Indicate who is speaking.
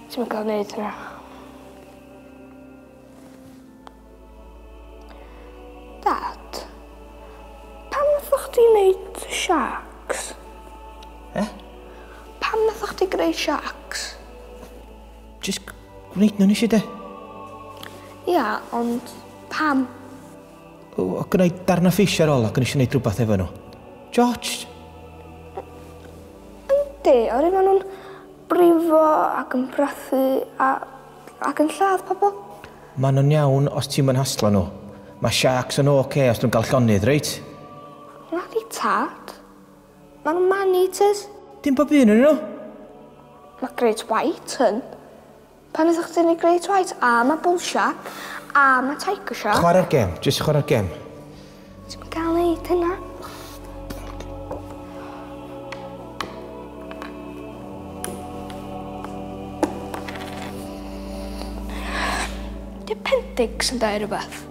Speaker 1: Ti'm yn cael neud hynna. Dad, pam nathoch chdi neud sharks?
Speaker 2: E?
Speaker 1: Pam nathoch chdi greu sharks?
Speaker 2: Jyst gwneud nhw nes i de.
Speaker 1: Ia, ond pam?
Speaker 2: O, o gynna i darna ffis ar ôl ac o'n i eisiau gwneud rhywbeth efo nhw. George!
Speaker 1: Yndi, oherwydd maen nhw'n brifo ac yn brathu a, ac yn lladd pobl.
Speaker 2: Maen nhw'n iawn os ti'm yn haslo nhw. Mae sharks yn oce os nhw'n gael llonydd, reit?
Speaker 1: Nadi tad. Maen nhw'n man-eaters.
Speaker 2: Dim bob un yn nhw.
Speaker 1: Mae Great White yn. Pan ydych chi'n ei Great White, a mae Bull Shark, a mae Tiger Shark.
Speaker 2: Chwarae'r gem, jyst chwarae'r gem.
Speaker 1: Ti'm yn gael neud hynna. Di appendix yn dau rhywbeth?